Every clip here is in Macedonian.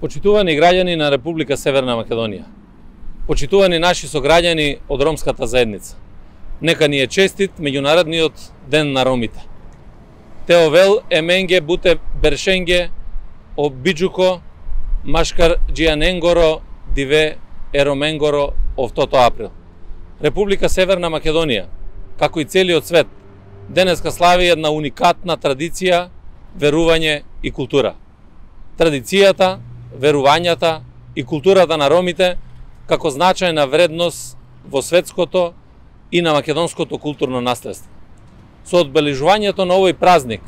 Почитувани граѓани на Република Северна Македонија, почитувани наши сограѓани од ромската заедница, нека ни е честит меѓународниот ден на ромите. Теовел еменге буте бершенге обиджуко машкар джијаненгоро диве ероменгоро овтото април. Република Северна Македонија, како и целиот свет, денеска слави една уникатна традиција, верување и култура. Традицијата, верувањата и културата на ромите како значајна вредност во светското и на македонското културно наследство. Со одбележувањето на овој празник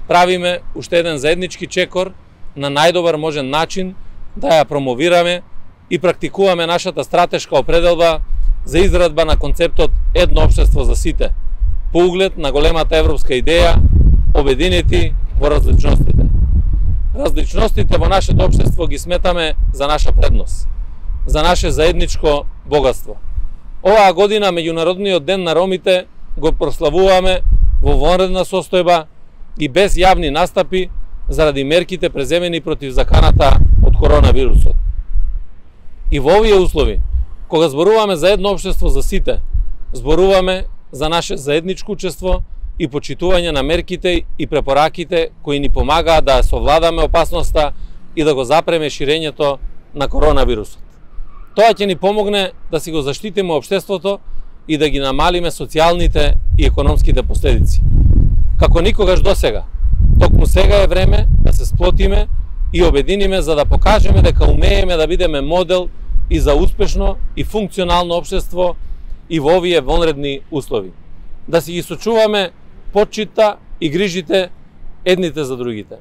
правиме уште еден заеднички чекор на најдобар можен начин да ја промовираме и практикуваме нашата стратешка определба за израдба на концептот едно општество за сите, по углед на големата европска идеја обединети во различностите. Различностите во нашето општество ги сметаме за наша предност, за наше заедничко богатство. Оваа година меѓународниот ден на ромите го прославуваме во вонредна состојба и без јавни настапи заради мерките преземени против заканата од коронавирусот. И во овие услови, кога зборуваме за едно општество за сите, зборуваме за наше заедничко учество и почитување на мерките и препораките кои ни помагаат да совладаме опасноста и да го запреме ширењето на коронавирусот. Тоа ќе ни помогне да си го заштитиме општеството и да ги намалиме социјалните и економските последици. Како никогаш досега, токму сега е време да се сплотиме и обединиме за да покажеме дека умееме да бидеме модел и за успешно и функционално општество и во овие вонредни услови. Да си ги сочуваме почита и грижите едните за другите.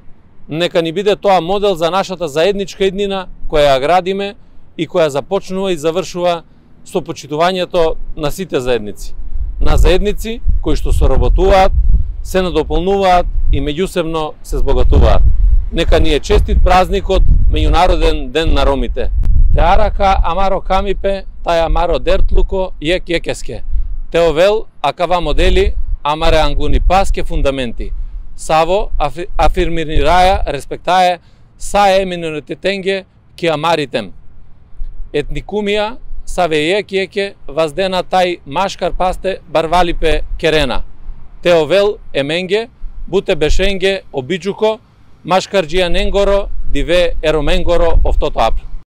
Нека ни биде тоа модел за нашата заедничка еднина која ја градиме и која започнува и завршува со почитувањето на сите заедници. На заедници кои што соработуваат, се надополнуваат и меѓусебно се збогатуваат. Нека ни е честит празникот Меѓународен ден на ромите. Теарака амаро камипе, тај амаро дертлуко јек јекеске. Теовел акава модели амаре ангуни паске фундаменти. Саво афирмираја респектаe саe миноритетенге ки амаритем. Етникумија саве јеке ваздена тај машкар пасте барвалипе керена. Теовел еменге буте бешенге обиджуко машкар джијаненгоро диве ероменгоро овтото април.